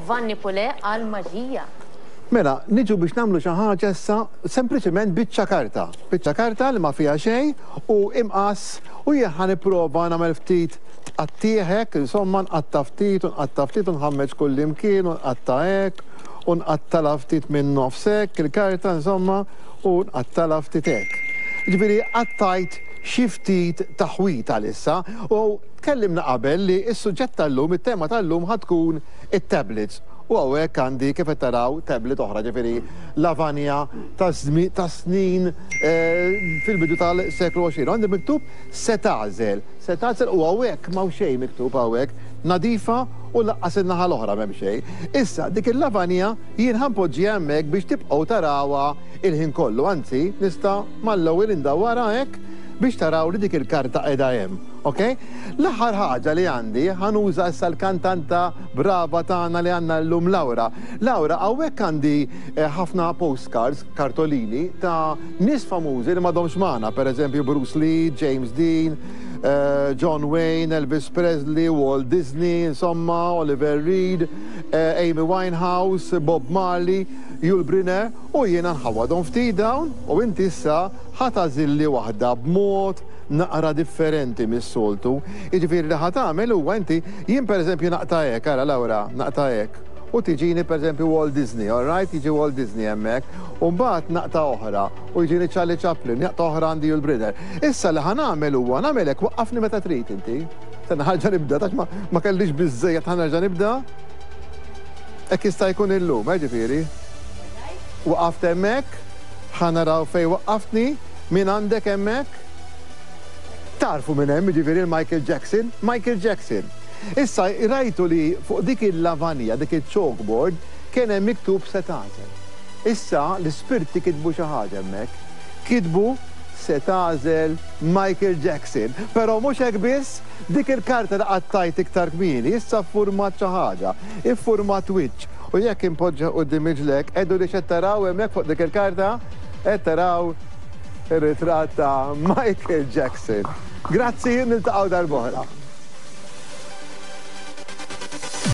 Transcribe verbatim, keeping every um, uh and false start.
Vanni Pulè għal maġija. Mela, niġu biex nagħmlu xi ħaġa issa sempliċement biċċa karta. Biċċa karta li ma fiha xejn u imqas u jien ħa nipprova nagħmel ftit tqattigħ hekk, insomma nqatta' ftit u nqatta' ftit u nħammeġ kull imkien u nqatta' hekk u nqattala ftit minn nofs hekk il-karta insomma u nqattala ftit hekk. Ġifieri qattajt xi ftit taħwit għalissa u tkellimna qabel li s-suġġett tal-lum, it-tema tal-lum ħa tkun it-tablets. U hawnhekk għandi kif qed taraw tablet oħra, ġifieri lavanja ta' snin fil-bidu tal-seklu għoxrin. Għandi miktub se tagħżel, se tagħżel u hawnhekk m'hawn xejn miktub hawnhekk, nadifa u laqqas in-naħa l-oħra m'hemm xejn. Issa dik il-lavanja jien ħa npoġġiha hemmhekk biex tibqgħu tarawha il-ħin kollu, anzi nista' mal-ewwel indawwarha hekk biex taraw li dik il-karta qiegħda hemm, ok? L-aħħar ħaġa li għandi ħa nuża issa l-kantanta brava tagħna li għandna llum Laura. Laura, hawnhekk għandi ħafna postcards, kartolini ta' nies famużi li m'għadhomx magħna, pereżempju Bruce Lee, James Dean, John Wayne, Elvis Presley, Walt Disney, insomma, Oliver Reed, Amy Winehouse, Bob Marley, Yul Brynner, u jiena nħawadhom ftit dawn u inti issa ħa tagħżilli waħda b'mod naqra differenti mis-soltu. Jiġifieri li ħa tagħmel huwa inti, jien pereżempju naqta' hekk, ara Laura, naqta' hekk. U tiġini pereżempju Walt Disney, all right? Jiġi Walt Disney hemmhekk. U mbagħad naqta' oħra u jiġini Charlie Chaplin, naqta' oħra għandi Yul Brynner. Issa li ħa nagħmel huwa nagħmel hekk, waqqafni meta trid inti. Stenna ħa nibda, tax ma kellix biżżejjed ħa nerġa' nibda. Hekk jista' jkun illum, eh, ġifieri. Waqaft hemmhekk, ħa naraw fejn waqqaftni, min għandek hemmhekk? Tarfu minn hemm, jiġifieri Michael Jackson, Michael Jackson. Issa rajtu li fuq dik il-lavanja, dik il-chalkboard, kien hemm miktub se tagħżel. Issa l-ispirti kitbu xi ħaġa hemmhekk. Kitbu se tagħżel Michael Jackson. Però mhux hekk biss, dik il-karta li qattajt iktar kmieni, issa ffurmat xi ħaġa, iffurmat wiċċ. U jekk impoġġa quddiem iġlek, għidu li x'qed taraw hemmhekk fuq dik il-karta, qed taraw ir-ritratt ta' Michael Jackson. Grazzi, niltaqgħu darb'oħra.